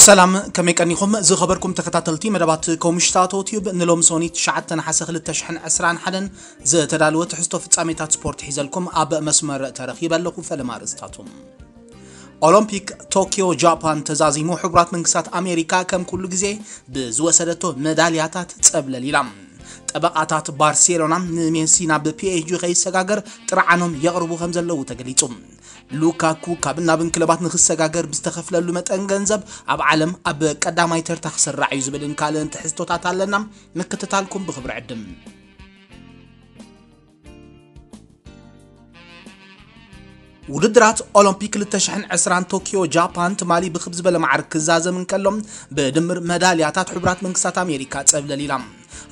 ሰላም፣ ከመይ ቀኒኹም ዝኸበርኩም ተኸታተልቲ መደባት ኮምሽታቶ ቲዩብ? ንሎም ሶኒ ትሽዓተ ነሓሰ ክልተ ሽሕን ዕስራን ሓደን ዝተዳለወ ትሕዝቶ ፍጻሜታት ስፖርት ሒዘልኩም ኣብ መስመር ተረኺበ ኣለኹ። ፈለማ ኣርእስታቱ። ኦሎምፒክ ቶኪዮ ጃፓን ተዛዚሙ። ሕቡራት መንግስታት ኣሜሪካ ከም ኩሉ ግዜ ብዝወሰደቶ መዳልያታት ጸብለል ኢላ። ጠበቓታት ባርሴሎና ንሜሲ ናብ ፒኤስጂ ከይሰጋገር ጥርዓኖም የቕርቡ ከም ዘለዉ ተገሊጹ። ሉካኩ ካብ እናብን ክለባት ንክሰጋገር ብዝተኸፍለሉ መጠን ገንዘብ ኣብ ዓለም ኣብ ቀዳማይ ተርታ ክስራዕ እዩ ዝብልን ካልእን ትሕዝቶታት ኣለና። ምክትታልኩም ብኽብሪ ዕድም። ውድድራት ኦሎምፒክ ክልተ ሽሕን ዕስራን ቶኪዮ ጃፓን ትማሊ ብክብ ዝበለ ማዕርግ ክዛዘም እንከሎ፣ ብድምር መዳልያታት ሕቡራት መንግስታት ኣሜሪካ ጸብለል ኢላ።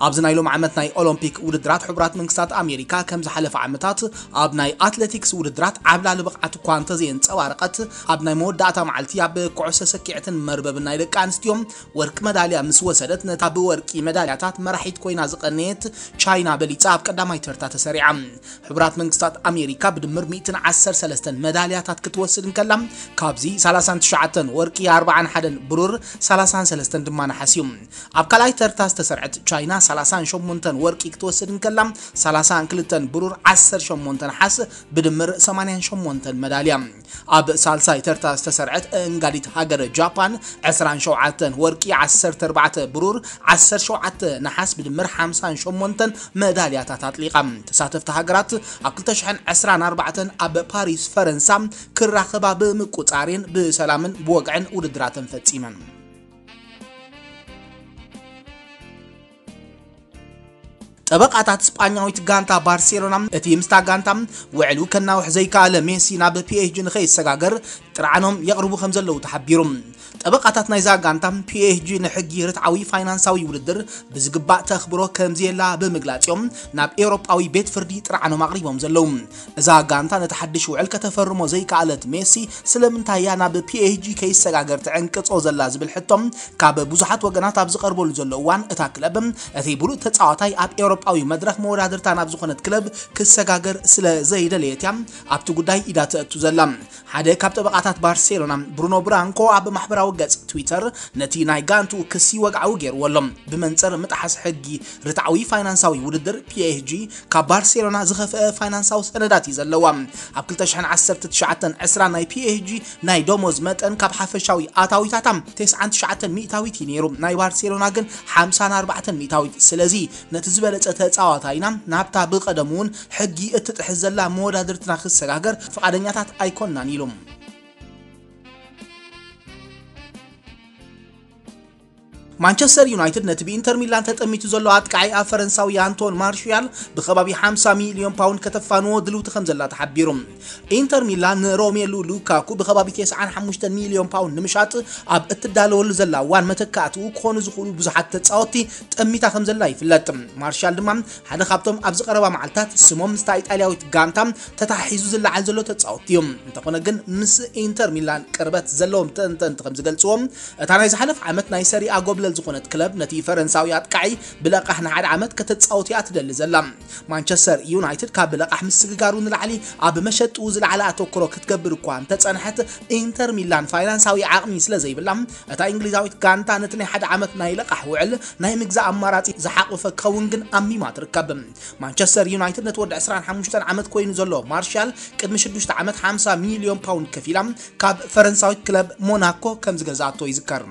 ኣብዚ ናይ ሎም ዓመት ናይ ኦሎምፒክ ውድድራት ሕቡራት መንግስታት ኣሜሪካ ከም ዝሓለፈ ዓመታት ኣብ ናይ ኣትሌቲክስ ውድድራት ዓብላሊ ብቕዓት እኳ እንተዘየንጸባረቐት፣ ኣብ ናይ መወዳእታ መዓልቲ ኣብ ኩዕሶ ሰኪዐትን መርበብን ናይ ደቂ ኣንስትዮ ወርቂ መዳልያ ምስ ወሰደት፣ ነታ ብወርቂ መዳልያታት መራሒት ኮይና ዝቐነየት ቻይና በሊጻ ኣብ ቀዳማይ ተርታ ተሰሪዓ። ሕቡራት መንግስታት ኣሜሪካ ብድምር ሚእትን ዓሰርተ ሰለስተን መዳልያታት ክትወስድ እንከላ፣ ካብዚ ሰላሳን ትሽዓተን ወርቂ፣ ኣርባዓን ሓደን ብሩር፣ ሰላሳን ሰለስተን ድማ ነሓስ እዩ። ኣብ ካልኣይ ተርታ ዝተሰርዐት ቻይና ሰላሳን ሸሞንተን ወርቂ ክትወስድ እንከላ፣ ሰላሳን ክልተን ብሩር፣ ዓሰርተ ሸሞንተ ነሓስ፣ ብድምር ሰማንያን ሸሞንተን መዳልያ። ኣብ ሳልሳይ ተርታ ዝተሰርዐት እንጋዲት ሃገር ጃፓን ዕስራን ሸውዓተን ወርቂ፣ ዓሰርተ ኣርባዕተ ብሩር፣ ዓሰርተ ሸውዓተ ነሓስ ብድምር ሓምሳን ሸሞንተን መዳልያታት ኣጥሊቓ። ተሳተፍቲ ሃገራት ኣብ ክልተ ሽሕን ዕስራን ኣርባዕተን ኣብ ፓሪስ ፈረንሳ ክራኸባ ብምቁጻሬን ብሰላምን ብወግዕን ውድድራተን ፈጺመን። ጠበቓታት ስጳኛዊት ጋንታ ባርሴሎና፣ እቲ ምስታ ጋንታ ውዕሉ ከናውሕ ዘይከኣለ ሜሲ ናብ ፒኤስጂ ንኸይሰጋገር ጥርዓኖም የቕርቡ ከም ዘለዉ ተሓቢሩ። ጠበቓታት ናይዛ ጋንታ፣ ፒኤስጂ ንሕጊ ርትዓዊ ፋይናንሳዊ ውድድር ብዝግባእ ተኽብሮ ከም ዘየላ ብምግላጽ እዮም ናብ ኤውሮጳዊ ቤት ፍርዲ ጥርዓኖም ኣቕሪቦም ዘለዉ። እዛ ጋንታ ነቲ ሓድሽ ውዕል ከተፈርሞ ዘይከኣለት ሜሲ ስለምንታይ እያ ናብ ፒኤስጂ ከይሰጋገር ትዕንቅጾ ዘላ ዝብል ሕቶ ካብ ብዙሓት ወገናት ኣብ ዝቐርበሉ ዘሎ እዋን፣ እታ ክለብ እቲ ብሉጽ ተጻዋታይ ኣብ ኤውሮጳዊ መድረኽ መወዳድርታ ናብ ዝኾነት ክለብ ክሰጋገር ስለ ዘይደለየት እያ ኣብቲ ጉዳይ ኢዳ ተእቱ ዘላ። ሓደ ካብ ጠበቓታት ባርሴሎና ብሩኖ ብራንኮ ኣብ ማሕበራዊ ገጽ ትዊተር ነቲ ናይ ጋንቱ ክሲ ወግዓዊ ገይርዎ ኣሎ። ብመንጽር ምጥሓስ ሕጊ ርትዓዊ ፋይናንሳዊ ውድድር፣ ፒኤስጂ ካብ ባርሴሎና ዝኸፍአ ፋይናንሳዊ ሰነዳት እዩ ዘለዋ። ኣብ ክልተ ሽሕን ዓሰርተ ትሽዓተን ዕስራ ናይ ፒኤስጂ ናይ ደሞዝ መጠን ካብ ሓፈሻዊ ኣታዊታታ ተስዓን ትሽዓተን ሚእታዊት እዩ ነይሩ። ናይ ባርሴሎና ግን ሓምሳን ኣርባዕተን ሚእታዊት። ስለዚ ነቲ ዝበለጸ ተጻዋታይና ናብታ ብቐደሙ እውን ሕጊ እትጥሕስ ዘላ መወዳድርትና ክሰጋገር ፍቓደኛታት ኣይኮንናን ኢሉ። ማንቸስተር ዩናይትድ ነቲ ብኢንተር ሚላን ተጠሚቱ ዘሎ ኣጥቃዒ ኣብ ፈረንሳዊ ኣንቶን ማርሽያል ብከባቢ ሓምሳ ሚልዮን ፓውንድ ከተፋንዎ ድልውቲ ከም ዘላ ተሓቢሩ። ኢንተር ሚላን ንሮሜሉ ሉካኩ ብከባቢ ተስዓን ሓሙሽተን ሚልዮን ፓውንድ ንምሻጥ ኣብ እትዳለወሉ ዘላ እዋን፣ መተካእትኡ ክኾኑ ዝኽእሉ ብዙሓት ተጻወትቲ ጠሚታ ከም ዘላ ይፍለጥ። ማርሻል ድማ ሓደ ካብቶም ኣብዚ ቀረባ መዓልታት ስሞም ምስታ ኢጣልያዊት ጋንታ ተታሒዙ ዝለዓል ዘሎ ተጻወትቲ እዩ። እንተኾነ ግን፣ ምስ ኢንተር ሚላን ቅርበት ዘለዎም ተንተንቲ ከም ዝገልጽዎ፣ እታ ናይ ዝሓለፈ ዓመት ናይ ሰሪኣ ጎብለል ዝኾነት ክለብ ነቲ ፈረንሳዊ ኣጥቃዒ ብለቃሕ ንሓደ ዓመት ከተጻውት እያ ትደሊ ዘላ። ማንቸስተር ዩናይትድ ካብ ብለቃሕ ምስግጋሩ ንላዕሊ ኣብ መሸጥኡ ዝለዓለ ኣተኩሮ ክትገብር እኳ እንተጸንሐት፣ ኢንተር ሚላን ፋይናንሳዊ ዓቕሚ ስለ ዘይብላ፣ እታ እንግሊዛዊት ጋንታ ነቲ ናይ ሓደ ዓመት ናይ ለቃሕ ውዕል ናይ ምግዛእ ኣማራጺ ዝሓቑፈ ክኸውን ግን ኣሚማ ትርከብ። ማንቸስተር ዩናይትድ ነቲ ወዲ ዕስራን ሓሙሽተን ዓመት ኮይኑ ዘሎ ማርሻል ቅድሚ ሽዱሽተ ዓመት ሓምሳ ሚልዮን ፓውንድ ከፊላ ካብ ፈረንሳዊት ክለብ ሞናኮ ከም ዝገዝኣቶ ይዝከር።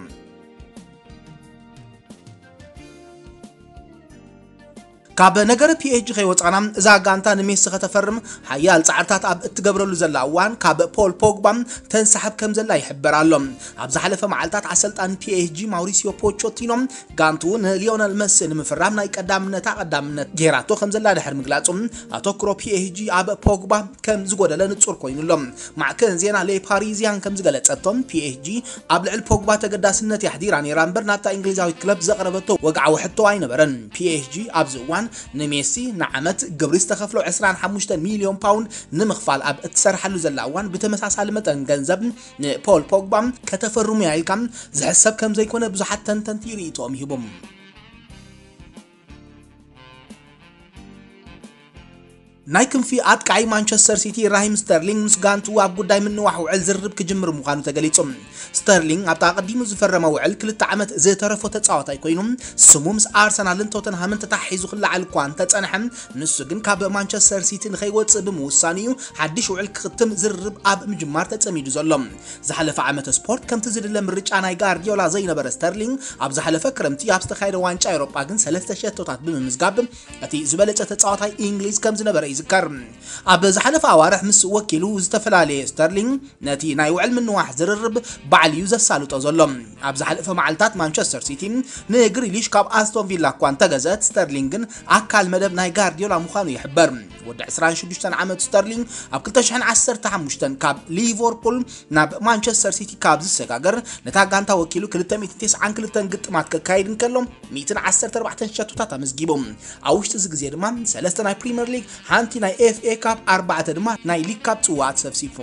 ካብ ነገር ፒኤስጂ ከይወጻና፣ እዛ ጋንታ ንሜሲ ከተፈርም ሓያል ጻዕርታት ኣብ እትገብረሉ ዘላ እዋን፣ ካብ ፖል ፖግባ ተንሳሕብ ከም ዘላ ይሕበር ኣሎ። ኣብ ዝሓለፈ መዓልታት፣ ኣሰልጣኒ ፒኤስጂ ማውሪሲዮ ፖቾቲኖ ጋንቱ ንሊዮነል መሲ ንምፍራም ናይ ቀዳምነታ ቀዳምነት ጌራቶ ከም ዘላ ድሕሪ ምግላጹ፣ ኣተኩሮ ፒኤስጂ ኣብ ፖግባ ከም ዝጎደለ ንጹር ኮይኑ ኣሎ። ማዕከን ዜና ሌ ፓሪዚያን ከም ዝገለጸቶ፣ ፒኤስጂ ኣብ ልዕሊ ፖግባ ተገዳስነት የሕዲራ ነይራ እምበር፣ ናብታ እንግሊዛዊት ክለብ ዘቕረበቶ ወግዓዊ ሕቶ ኣይነበረን። ፒኤስጂ ኣብዚ እዋን ንሜሲ ንዓመት ግብሪ ዝተኸፍሎ ዕስራን ሓሙሽተን ሚልዮን ፓውንድ ንምኽፋል ኣብ እትሰርሓሉ ዘላ እዋን፣ ብተመሳሳሊ መጠን ገንዘብ ንፖል ፖግባ ከተፈርሙ እያ ኢልካ ዝሕሰብ ከም ዘይኮነ ብዙሓት ተንተንቲ ርእይቶኦም ይህቡ። ናይ ክንፊ ኣጥቃዒ ማንቸስተር ሲቲ ራሂም ስተርሊንግ ምስ ጋንቱ ኣብ ጉዳይ ምንዋሕ ውዕል ዝርርብ ክጅምር ምዃኑ ተገሊጹ። ስተርሊንግ ኣብታ ኣቐዲሙ ዝፈረመ ውዕል ክልተ ዓመት ዝተረፎ ተጻዋታይ ኮይኑ፣ ስሙ ምስ ኣርሰናልን ቶተንሃምን ተታሒዙ ክለዓል እኳ እንተጸንሐ፣ ንሱ ግን ካብ ማንቸስተር ሲቲ ንኸይወጽእ ብምውሳኑ እዩ ሓድሽ ውዕል ክኽትም ዝርርብ ኣብ ምጅማር ተጸሚዱ ዘሎ። ዝሓለፈ ዓመተ ስፖርት ከምቲ ዝድለ ምርጫ ናይ ጋርዲዮላ ዘይነበረ ስተርሊንግ፣ ኣብ ዝሓለፈ ክረምቲ ኣብ ዝተኻየደ ዋንጫ ኤውሮጳ ግን ሰለስተ ሸቶታት ብምምዝጋብ እቲ ዝበለጸ ተጻዋታይ እንግሊዝ ከም ዝነበረ ይዝከር። ኣብ ዝሓለፈ ኣዋርሕ ምስ ወኪሉ ዝተፈላለየ ስተርሊንግ፣ ነቲ ናይ ውዕል ምንዋሕ ዝርርብ ባዕሉ እዩ ዘሳልጦ ዘሎ። ኣብ ዝሓለፈ መዓልታት ማንቸስተር ሲቲ ንግሪሊሽ ካብ ኣስቶን ቪላ እኳ እንተገዘት፣ ስተርሊንግ ግን ኣካል መደብ ናይ ጋርዲዮላ ምዃኑ ይሕበር። ወዲ ዕስራን ሽዱሽተን ዓመት ስተርሊንግ ኣብ ክልተ ሽሕን ዓሰርተ ሓሙሽተን ካብ ሊቨርፑል ናብ ማንቸስተር ሲቲ ካብ ዝሰጋገር፣ ነታ ጋንታ ወኪሉ ክልተ ሚእትን ተስዓን ክልተን ግጥማት ከካይድ እንከሎ፣ ሚእትን ዓሰርተ ኣርባዕተን ሸቶታት ኣመዝጊቡ። ኣብ ውሽጢ እዚ ግዜ ድማ ሰለስተ ናይ ፕሪምየር ሊግ፣ ሓንቲ ናይ ኤፍ ኤ ካፕ፣ ኣርባዕተ ድማ ናይ ሊግ ካፕ ጽዋኣት ሰብሲፉ።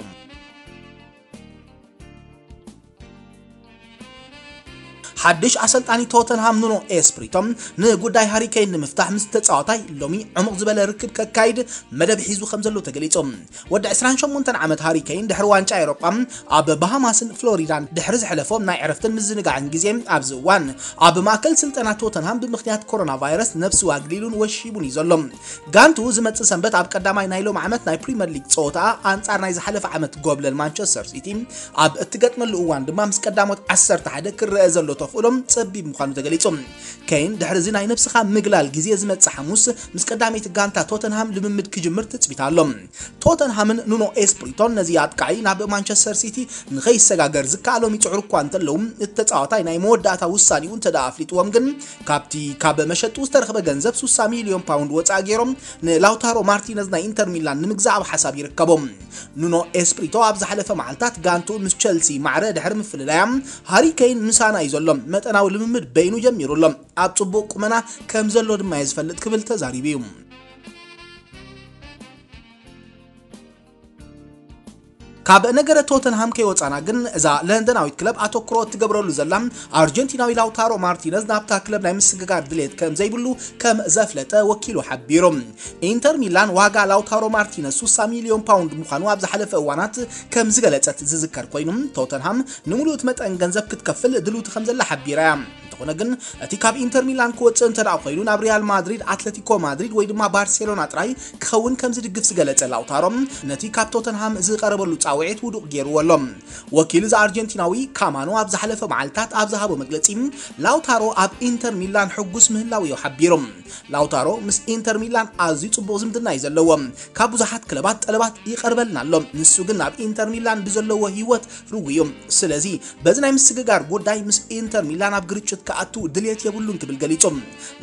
ሓድሽ ኣሰልጣኒ ቶተንሃም ኑኖ ኤስፕሪቶ ንጉዳይ ሃሪ ኬን ንምፍታሕ ምስ ተጻዋታይ ሎሚ ዕሙቕ ዝበለ ርክብ ከካይድ መደብ ሒዙ ከም ዘሎ ተገሊጹ። ወዲ ዕስራን ሸሞንተን ዓመት ሃሪ ኬን ድሕሪ ዋንጫ ኤውሮጳ ኣብ ባሃማስን ፍሎሪዳን ድሕሪ ዘሕለፎ ናይ ዕረፍትን ምዝንጋዕን ግዜ፣ ኣብዚ እዋን ኣብ ማእከል ስልጠና ቶተንሃም ብምኽንያት ኮሮና ቫይረስ ነብሱ ኣግሊሉን ወሺቡን እዩ ዘሎ። ጋንቱ ዝመጽእ ሰንበት ኣብ ቀዳማይ ናይ ሎሚ ዓመት ናይ ፕሪምየር ሊግ ጸወታ ኣንጻር ናይ ዝሓለፈ ዓመት ጎብለል ማንቸስተር ሲቲ ኣብ እትገጥመሉ እዋን ድማ ምስ ቀዳሞት ዓሰርተ ሓደ ክረአ ዘሎ ተኽእሎ ጸቢብ ምዃኑ ተገሊጹ። ኬን ድሕሪ እዚ ናይ ነብስኻ ምግላል ግዜ ዝመጽእ ሓሙስ ምስ ቀዳመይቲ ጋንታ ቶተንሃም ልምምድ ክጅምር ትጽቢት ኣሎ። ቶተንሃምን ኑኖ ኤስፕሪቶን ነዚ ኣጥቃዒ ናብ ማንቸስተር ሲቲ ንኸይሰጋገር ዝከኣሎም ይጽዕሩ እኳ እንተለዉ፣ እቲ ተጻዋታይ ናይ መወዳእታ ውሳኔኡ እንተ ደኣ ኣፍሊጥዎም ግን፣ ካብቲ ካብ መሸጡ ዝተረኽበ ገንዘብ ሱሳ ሚልዮን ፓውንድ ወጻኢ ገይሮም ንላውታሮ ማርቲነዝ ናይ ኢንተር ሚላን ንምግዛእ ኣብ ሓሳብ ይርከቡ። ኑኖ ኤስፕሪቶ ኣብ ዝሓለፈ መዓልታት ጋንቱ ምስ ቸልሲ ማዕረ ድሕሪ ምፍልላያ፣ ሃሪ ኬን ምሳና እዩ ዘሎ፣ መጠናዊ ልምምድ በይኑ ጀሚሩ ኣሎ፣ ኣብ ጽቡቕ ቁመና ከም ዘሎ ድማ እየ ዝፈልጥ ክብል ተዛሪቡ እዩ። ካብ ነገረ ቶተንሃም ከይወጻና ግን፣ እዛ ለንደናዊት ክለብ ኣተኩሮ እትገብረሉ ዘላ ኣርጀንቲናዊ ላውታሮ ማርቲነዝ ናብታ ክለብ ናይ ምስግጋር ድሌት ከም ዘይብሉ ከም ዘፍለጠ ወኪሉ ሓቢሩ። ኢንተር ሚላን ዋጋ ላውታሮ ማርቲነዝ ሱሳ ሚልዮን ፓውንድ ምዃኑ ኣብ ዝሓለፈ እዋናት ከም ዝገለጸት ዝዝከር ኮይኑ፣ ቶተንሃም ንምሉእ እቲ መጠን ገንዘብ ክትከፍል ድልውቲ ከም ዘላ ሓቢራ እያ። እንተኾነ ግን፣ እቲ ካብ ኢንተር ሚላን ክወጽእ እንተ ደኣ ኮይኑ፣ ናብ ሪያል ማድሪድ፣ ኣትለቲኮ ማድሪድ ወይ ድማ ባርሴሎና ጥራይ ክኸውን ከም ዝድግፍ ዝገለጸ ላውታሮ፣ ነቲ ካብ ቶተንሃም ዝቐረበሉ ጻውዒት ውዱቕ ገይርዎ ኣሎ። ወኪል እዚ ኣርጀንቲናዊ ካማኖ ኣብ ዝሓለፈ መዓልታት ኣብ ዝሃቦ መግለጺ፣ ላውታሮ ኣብ ኢንተር ሚላን ሕጉስ ምህላው እዩ ሓቢሩ። ላውታሮ ምስ ኢንተር ሚላን ኣዝዩ ጽቡቕ ዝምድና እዩ ዘለዎ። ካብ ብዙሓት ክለባት ጠለባት ይቐርበልና ኣሎ። ንሱ ግን ኣብ ኢንተር ሚላን ብዘለዎ ህይወት ርጉእ እዩ። ስለዚ በዚ ናይ ምስግጋር ጉዳይ ምስ ኢንተር ሚላን ኣብ ግርጭት ክኣቱ ድልየት የብሉን ክብል ገሊጹ።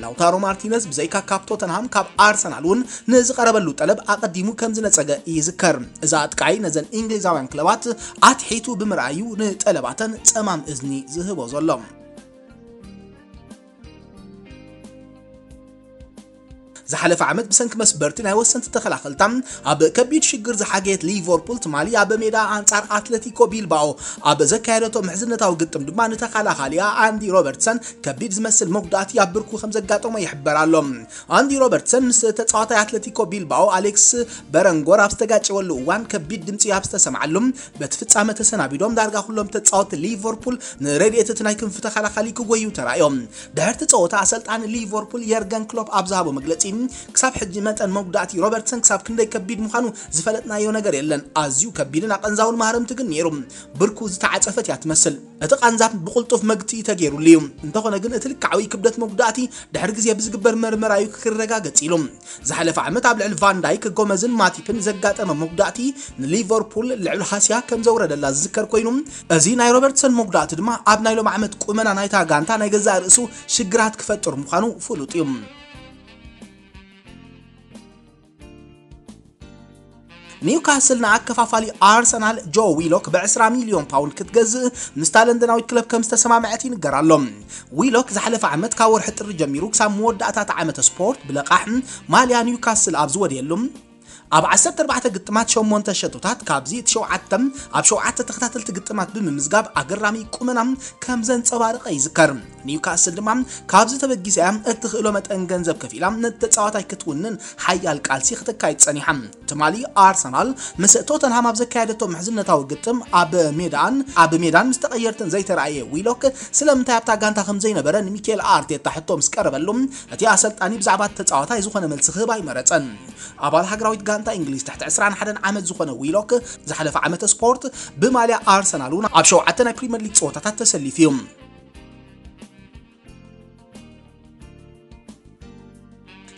ላውታሮ ማርቲነዝ ብዘይካ ካብ ቶተንሃም፣ ካብ ኣርሰናል እውን ንዝቐረበሉ ጠለብ ኣቐዲሙ ከም ዝነጸገ ይዝከር። እዚ ኣጥቃዒ ነዘን እንግሊዛውያን ክለባት ኣትሒቱ ብምርኣዩ ንጠለባተን ጸማም እዝኒ ዝህቦ ዘሎ። ዝሓለፈ ዓመት ብሰንኪ መስበርቲ ናይ ወሰንቲ ተኸላኸልታ ኣብ ከቢድ ሽግር ዝሓገየት ሊቨርፑል ትማሊ ኣብ ሜዳ ኣንጻር ኣትለቲኮ ቢልባኦ ኣብ ዘካየደቶ ምሕዝነታዊ ግጥም ድማ ንተኸላኻሊኣ ኣንዲ ሮበርትሰን ከቢድ ዝመስል መጉዳእቲ ኣብ ብርኩ ከም ዘጋጠሞ ይሕበር ኣሎ። ኣንዲ ሮበርትሰን ምስ ተጻዋታይ ኣትለቲኮ ቢልባኦ ኣሌክስ በረንጎር ኣብ ዝተጋጨወሉ እዋን ከቢድ ድምጺ ኣብ ዝተሰምዓሉ፣ በቲ ፍጻመ ተሰናቢዶም ዳርጋ ኩሎም ተጻወትቲ ሊቨርፑል ንረድኤት እቲ ናይ ክንፊ ተኸላኻሊ ክጎዩ ተራእዮም። ድሕርቲ ጸወታ ኣሰልጣኒ ሊቨርፑል የርገን ክሎፕ ኣብ ዝሃቦ መግለጺ፣ ክሳብ ሕጂ መጠን መጉዳእቲ ሮበርትሰን ክሳብ ክንደይ ከቢድ ምዃኑ ዝፈለጥናዮ ነገር የለን። ኣዝዩ ከቢድን ኣቐንዛውን ማህረምቲ ግን ነይሩ። ብርኩ ዝተዓጸፈት እያ ትመስል። እቲ ቃንዛ ብቕልጡፍ መግትኢ ተገይሩሉ እዩ። እንተኾነ ግን እቲ ልክዓዊ ክብደት መጉዳእቲ ድሕሪ ግዜ ብዝግበር መርመራ እዩ ክረጋገጽ ኢሉ። ዝሓለፈ ዓመት ኣብ ልዕሊ ቫን ዳይክ፣ ጎመዝን ማቲፕን ዘጋጠመ መጉዳእቲ ንሊቨርፑል ልዕሊ ሃስያ ከም ዘውረደላ ዝዝከር ኮይኑ፣ እዚ ናይ ሮበርትሰን መጉዳእቲ ድማ ኣብ ናይ ሎም ዓመት ቁመና ናይታ ጋንታ ናይ ገዛእ ርእሱ ሽግራት ክፈጥር ምዃኑ ፍሉጥ እዩ። ኒውካስል ንኣከፋፋሊ ኣርሰናል ጆ ዊሎክ ብ ዕስራ ሚልዮን ፓውንድ ክትገዝእ ምስታ ለንደናዊት ክለብ ከም ዝተሰማምዐት ይንገር ኣሎ። ዊሎክ ዝሓለፈ ዓመት ካብ ወርሒ ጥሪ ጀሚሩ ክሳብ መወዳእታ እቲ ዓመተ ስፖርት ብለቓሕ ማልያ ኒውካስል ኣብ ዝወደየሉ፣ ኣብ ዓሰርተ ኣርባዕተ ግጥማት ሸሞንተ ሸቶታት፣ ካብዚ እቲ ሸውዓተ ኣብ ሸውዓተ ተኸታተልቲ ግጥማት ብምምዝጋብ ኣገራሚ ቁመና ከም ዘንጸባረቐ ይዝከር። ኒውካስል ድማ ካብዚ ተበጊሳ እያ እትኽእሎ መጠን ገንዘብ ከፊላ ነቲ ተጻዋታይ ክትውንን ሓያል ቃልሲ ክተካይድ ጸኒሓ። ትማሊ ኣርሰናል ምስ ቶተንሃም ኣብ ዘካየደቶ ምሕዝነታዊ ግጥም ኣብ ሜዳን ኣብ ሜዳን ምስ ተቐየርትን ዘይተራእየ ዊሎክ ስለምንታይ ኣብታ ጋንታ ከም ዘይነበረ ንሚኬል ኣርቴታ ሕቶ ምስ ቀረበሉ እቲ ኣሰልጣኒ ብዛዕባ እቲ ተጻዋታይ ዝኾነ መልሲ ክህብ ኣይመረጸን። ኣባል ሃገራዊት ጋንታ እንግሊዝ ትሕቲ ዕስራን ሓደን ዓመት ዝኾነ ዊሎክ ዝሓለፈ ዓመተ ስፖርት ብማልያ ኣርሰናል እውን ኣብ ሸውዓተ ናይ ፕሪምየር ሊግ ጸወታታት ተሰሊፉ እዩ።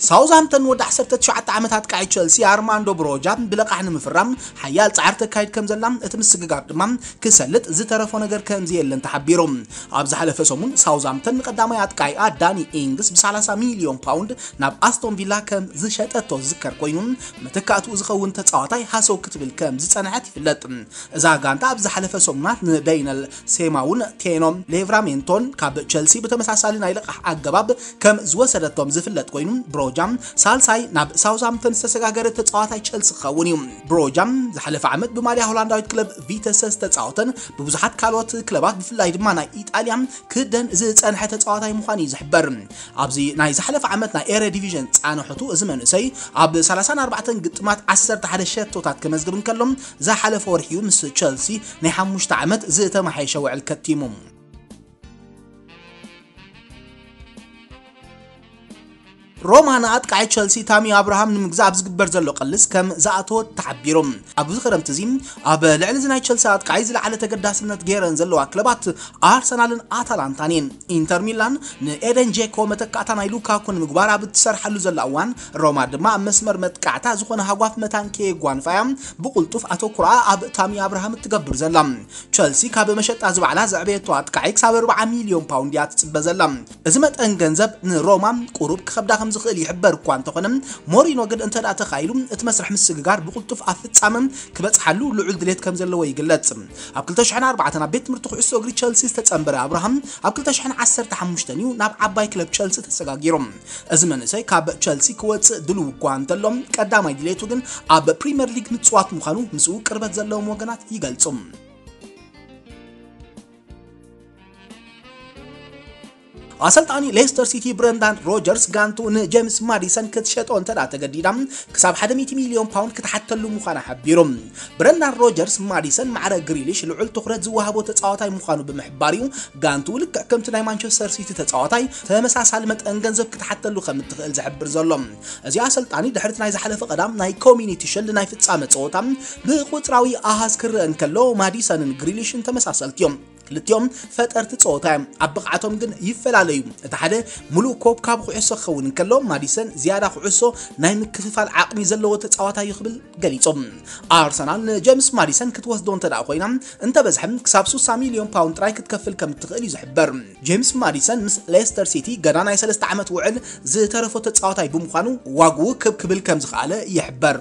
ሳውዝሃምተን ወዲ ዓሰርተ ትሽዓተ ዓመት ኣጥቃዒ ቸልሲ ኣርማንዶ ብሮጃ ብለቓሕ ንምፍራም ሓያል ጻዕሪ ተካይድ ከም ዘላ እቲ ምስግጋር ድማ ክሰልጥ ዝተረፎ ነገር ከም ዘየለን ተሓቢሩ። ኣብ ዝሓለፈ ሰሙን ሳውዝሃምተን ንቀዳማይ ኣጥቃዒኣ ዳኒ ኢንግስ ብ ሰላሳ ሚልዮን ፓውንድ ናብ ኣስቶን ቪላ ከም ዝሸጠቶ ዝዝከር ኮይኑ መተካእትኡ ዝኸውን ተጻዋታይ ሃሰው ክትብል ከም ዝጸንሐት ይፍለጥ። እዛ ጋንታ ኣብ ዝሓለፈ ሰሙናት ንደይነል ሴማውን ቴኖ ሌቭራሜንቶን ካብ ቸልሲ ብተመሳሳሊ ናይ ልቓሕ ኣገባብ ከም ዝወሰደቶም ዝፍለጥ ኮይኑ ብሮጃ ሳልሳይ ናብ ሳውዝሃምተን ዝተሰጋገረ ተጻዋታይ ቸልሲ ክኸውን እዩ። ብሮጃ ዝሓለፈ ዓመት ብማልያ ሆላንዳዊት ክለብ ቪተሰ ዝተጻወተን ብብዙሓት ካልኦት ክለባት ብፍላይ ድማ ናይ ኢጣልያ ክደን ዝጸንሐ ተጻዋታይ ምዃኑ እዩ ዝሕበር። ኣብዚ ናይ ዝሓለፈ ዓመት ናይ ኤረ ዲቪዥን ጻንሖቱ እዚ መንእሰይ ኣብ ሰላሳን ኣርባዕተን ግጥማት ዓሰርተ ሓደ ሸቶታት ከመዝግብ እንከሎ ዝሓለፈ ወርሒ እዩ ምስ ቸልሲ ናይ ሓሙሽተ ዓመት ዝተመሓየሸ ውዕል ከቲሙ። ሮማ ንኣጥቃዒ ቸልሲ ታሚ ኣብርሃም ንምግዛእ ኣብ ዝግበር ዘሎ ቅልስ ከም ዝኣተወት ተሓቢሩ። ኣብዚ ክረምቲ እዚ ኣብ ልዕሊ እዚ ናይ ቸልሲ ኣጥቃዒ ዝለዓለ ተገዳስነት ገይረን ዘለዋ ክለባት ኣርሰናልን ኣታላንታን እየን። ኢንተር ሚላን ንኤደን ጄኮ መተካእታ ናይ ሉካኩ ንምግባር ኣብ እትሰርሓሉ ዘላ እዋን ሮማ ድማ ኣብ መስመር መጥቃዕታ ዝኾነ ሃጓፍ መታን ከየጓንፋ እያ ብቕልጡፍ ኣተኩራ ኣብ ታሚ ኣብርሃም እትገብር ዘላ። ቸልሲ ካብ መሸጣ ዝባዕላ ዘዕበየቶ ኣጥቃዒ ክሳብ ኣርባዓ ሚልዮን ፓውንድ እያ ትጽበ ዘላ። እዚ መጠን ገንዘብ ንሮማ ቁሩብ ክኸብዳ ከም ዝኽእል ይሕበር እኳ እንተኾነ ሞሪኖ ግን እንተ ደኣ ተኻኢሉ እቲ መስርሕ ምስግጋር ብቕልጡፍ ኣብ ፍጻመ ክበጽሓሉ ልዑል ድሌት ከም ዘለዎ ይግለጽ። ኣብ ክልተ ሽሕን ኣርባዕተን ኣብ ቤት ትምህርቲ ኩዕሶ እግሪ ቸልሲ ዝተጸንበረ ኣብርሃም ኣብ ክልተ ሽሕን ዓሰርተ ሓሙሽተን እዩ ናብ ዓባይ ክለብ ቸልሲ ተሰጋጊሩ። እዚ መንእሰይ ካብ ቸልሲ ክወጽእ ድልው እኳ እንተሎ ቀዳማይ ድሌቱ ግን ኣብ ፕሪምየር ሊግ ምጽዋት ምዃኑ ምስኡ ቅርበት ዘለዎም ወገናት ይገልጹ። ኣሰልጣኒ ሌስተር ሲቲ ብረንዳን ሮጀርስ ጋንቱ ንጄምስ ማዲሰን ክትሸጦ እንተ ደኣ ተገዲዳ ክሳብ ሓደ ሚእቲ ሚልዮን ፓውንድ ክትሓተሉ ምዃና ሓቢሩ። ብረንዳን ሮጀርስ ማዲሰን ማዕረ ግሪሊሽ ልዑል ትኹረት ዝወሃቦ ተጻዋታይ ምዃኑ ብምሕባር እዩ ጋንቱ ልክዕ ከምቲ ናይ ማንቸስተር ሲቲ ተጻዋታይ ተመሳሳሊ መጠን ገንዘብ ክትሓተሉ ከም እትኽእል ዝሕብር ዘሎ። እዚ ኣሰልጣኒ ድሕርቲ ናይ ዝሓለፈ ቀዳም ናይ ኮሚኒቲ ሽልድ ናይ ፍጻመ ጸወታ ብቁጽራዊ ኣሃዝ ክረአ እንከሎ ማዲሰንን ግሪሊሽን ተመሳሰልቲ እዮም። ክልቲኦም ፈጠርቲ ጸወታ እዮም። ኣብ ብቕዓቶም ግን ይፈላለዩ። እቲ ሓደ ሙሉእ ኮብ ካብ ኩዕሶ ክኸውን እንከሎ ማዲሰን ዝያዳ ኩዕሶ ናይ ምክፍፋል ዓቕሚ ዘለዎ ተጻዋታይ እዩ ክብል ገሊጹ። ኣርሰናል ንጀምስ ማዲሰን ክትወስዶ እንተ ደኣ ኮይና እንተበዝሐ ክሳብ ስሳ ሚልዮን ፓውንድ ጥራይ ክትከፍል ከም እትኽእል እዩ ዝሕበር። ጄምስ ማዲሰን ምስ ሌስተር ሲቲ ገና ናይ ሰለስተ ዓመት ውዕል ዝተረፎ ተጻዋታይ ብምዃኑ ዋግኡ ክብ ክብል ከም ዝኸኣለ ይሕበር።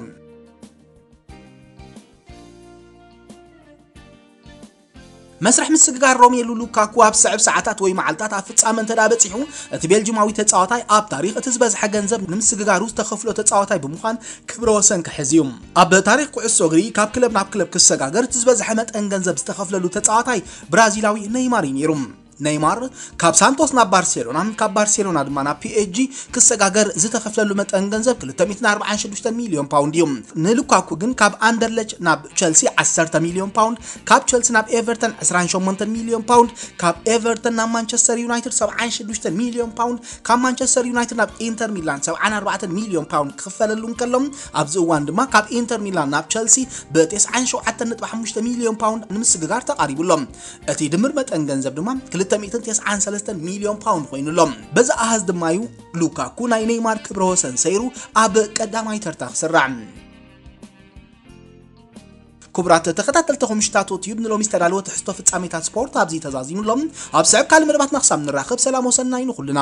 መስርሕ ምስግጋር ሮሜሉ ሉካኩ ኣብ ስዕብ ሰዓታት ወይ መዓልታት ኣብ ፍጻመ እንተ ደኣ በጺሑ እቲ ቤልጂማዊ ተጻዋታይ ኣብ ታሪኽ እቲ ዝበዝሐ ገንዘብ ንምስግጋሩ ዝተኸፍሎ ተጻዋታይ ብምዃን ክብረ ወሰን ክሕዝ እዩ። ኣብ ታሪኽ ኩዕሶ እግሪ ካብ ክለብ ናብ ክለብ ክሰጋገር እቲ ዝበዝሐ መጠን ገንዘብ ዝተኸፍለሉ ተጻዋታይ ብራዚላዊ ኔይማር እዩ ነይሩ። ኔይማር ካብ ሳንቶስ ናብ ባርሴሎና ካብ ባርሴሎና ድማ ናብ ፒኤስጂ ክሰጋገር ዝተኸፍለሉ መጠን ገንዘብ ክልተ ሚእትን ኣርባዓን ሽዱሽተ ሚልዮን ፓውንድ እዩ። ንሉካኩ ግን ካብ ኣንደርለች ናብ ቸልሲ ዓሰርተ ሚልዮን ፓውንድ፣ ካብ ቸልሲ ናብ ኤቨርተን ዕስራን ሸሞንተን ሚልዮን ፓውንድ፣ ካብ ኤቨርተን ናብ ማንቸስተር ዩናይትድ ሰብዓን ሽዱሽተ ሚልዮን ፓውንድ፣ ካብ ማንቸስተር ዩናይትድ ናብ ኢንተር ሚላን ሰብዓን ኣርባዕተን ሚልዮን ፓውንድ ክኽፈለሉ እንከሎ ኣብዚ እዋን ድማ ካብ ኢንተር ሚላን ናብ ቸልሲ ብተስዓን ሸውዓተን ነጥቢ ሓሙሽተ ሚልዮን ፓውንድ ንምስግጋር ተቓሪቡ ኣሎ። እቲ ድምር መጠን ገንዘብ ድማ ክልተ ሚእትን ተስዓን ሰለስተን ሚልዮን ፓውንድ ኮይኑ ኣሎ። በዚ ኣሃዝ ድማ እዩ ሉካኩ ናይ ኔይማር ክብረ ወሰን ሰይሩ ኣብ ቀዳማይ ተርታ ክስራዕ። ክቡራት ተኸታተልቲ ኮምሽታቶ ቲዩብ ንሎሚ ዝተዳለወ ትሕዝቶ ፍጻሜታት ስፖርት ኣብዚ ተዛዚሙ ኣሎ። ኣብ ስዕብ ካልእ መደባትና ክሳብ ንራኸብ ሰላም ወሰናይ ንኹልና።